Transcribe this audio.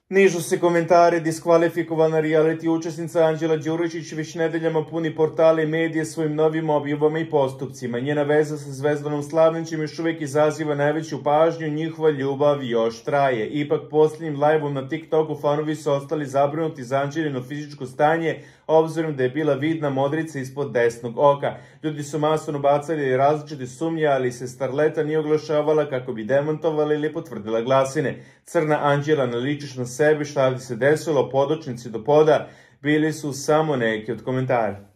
Nižu se komentari, diskvalifikovana reality učesnica Anđela Đuričić već nedeljama puni portale i medije svojim novim objavama i postupcima. Njena veza sa Zvezdanom Slavnićem još uvijek izaziva najveću pažnju, njihova ljubav još traje. Ipak posljednjim live-om na TikToku fanovi su ostali zabrinuti za Anđelino fizičko stanje, obzirom da je bila vidna modrica ispod desnog oka. Ljudi su masovno bacali različite sumnje, ali se starleta nije oglašavala kako bi demantovala ili potvrdila glasine. Crna Anđela, naličiš na sebe, šta bi se desilo, podočnici do poda, bili su samo neki od komentara.